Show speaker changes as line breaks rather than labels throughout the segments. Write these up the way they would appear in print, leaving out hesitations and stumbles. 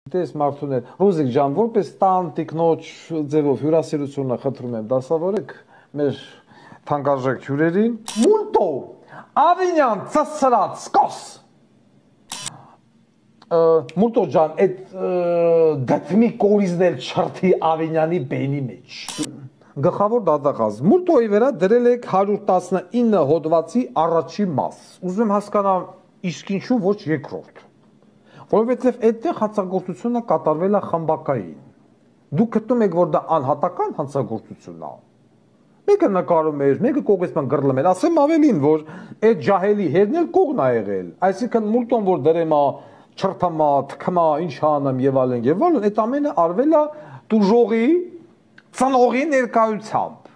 Տես մարդուներ, Ռուզիկ ջան, որպես տան տիկնոջ ձևով հյուրասիրությունը խնդրում եմ դասավորեք մեր թանկարժեք հյուրերին։ Մուլտո, Ավինյան ծսրած սկոս։ Մուլտո ջան, այդ դեպմի կորիզներ չրթի Ավինյանի բենի մեջ։ Գլխավոր դատախազ, Մուլտոյի վրա դրել եք 119 հոդվածի առաջի մաս։ Ուզում եմ հասկանամ, իսկ ինչու ոչ երկրորդ։ Որովհետև այդտեղ հանցագործությունը կատարվել է խմբակային։ Դուք գտնում եք, որ դա անհատական հանցագործություն է։ Մեկը նկարում էր, մեկը կողեսման գրլում էր, ասեմ ավելին, որ այդ ջահելի հերն էլ կողն է եղել։ Այսինքն Մուլտոն, որ դրեմա, չրթամա, թքմա, ինչ անեմ եւ այլն, այդ ամենը արվել է դուժողի, ծնողի ներկայությամբ։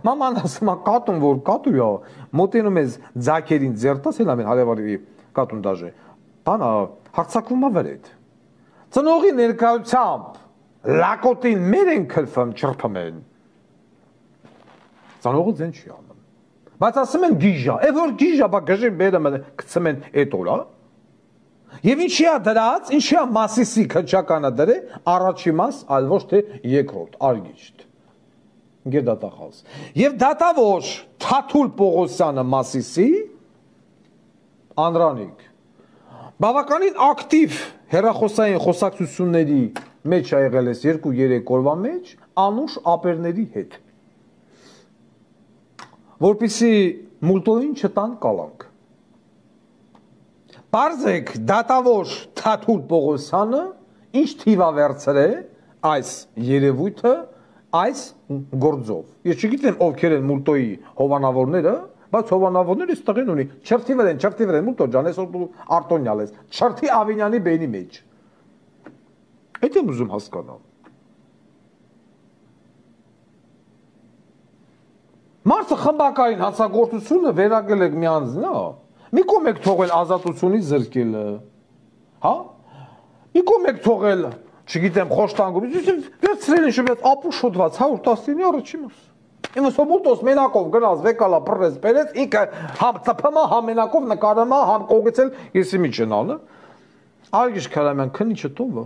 Մաման ասում է կատուն, որ կատու է, մոտենում ես ձակերին ձերտաս, էլ ամեն հարևարի կատուն դաժե։ Բանա հարցակվում է վրեդ։ Ծնողի ներկայությամբ լակոտին մեր են քրփում, չրփում են։ Ծնողը ձեն չի անում։ Բայց ասում են գիժա, է որ գիժա, բա գժին բերում են, գցում են այդ օրա։ Եվ ինչի է դրած, ինչի է Մասիսի քչականը դրե, առաջի մաս, այլ ոչ թե երկրորդ, արգիշտ։ Գեր դատախազ։ Եվ դատավոր Թաթուլ Պողոսյանը Մասիսի, Անդրանիկ բավականին ակտիվ հեռախոսային խոսակցությունների մեջ ա եղել ես 2-3 օրվա մեջ անուշ ապերների հետ, որպեսզի Մուլտոյին չտան կալանք։ Պարզեք դատավոր Թաթուլ Պողոսյանը ինչ թիվ ա վերցրել այս երևույթը այս գործով։ Ես չգիտեմ ովքեր են Մուլտոյի հովանավորները, բայց հովանավորները այս տղեն ունի, չրթի վրեն, Մուլտո ջան, այսօր դու արտոնյալ ես, չրթի Ավինյանի բենի մեջ։ Այդ եմ ուզում հասկանալ։ Մարդը խմբակային հանցագործությունը վերագրել եք մի անձնա, մի կողմ եք թողել ազատությունից զրկելը, հա? Մի կողմ եք թողել, չգիտեմ, խոշտանգում, վերցրել ինչ մեծ ապուշ հոդված 119-ի առաջի մաս։ Իմս Մուլտոս մենակով գնաց վեկալա բռես բերեց, ինքը համ ծփմա, համ մենակով նկարամա, համ կողեցել եսի միջենալը։ Արգիշ Քարամյան, քնի չտովը։